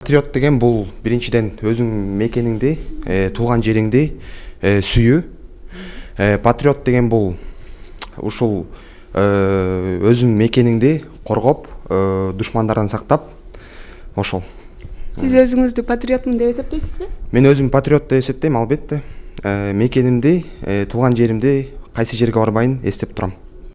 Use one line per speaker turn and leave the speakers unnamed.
Патриот деген бул биринчиден өзүң мекениңди, туулган жериңди сүйүү. Патриот деген бул ушул өзүң мекениңди коргоп, душмандардан сактап, ошол.
Сиз өзүңүздү патриотмун деп эсептейсизби?
Мен өзүм патриот деп эсептейм, албетте. Мекенимди, туулган жеримди кайсы жерге барбайын эстеп турам.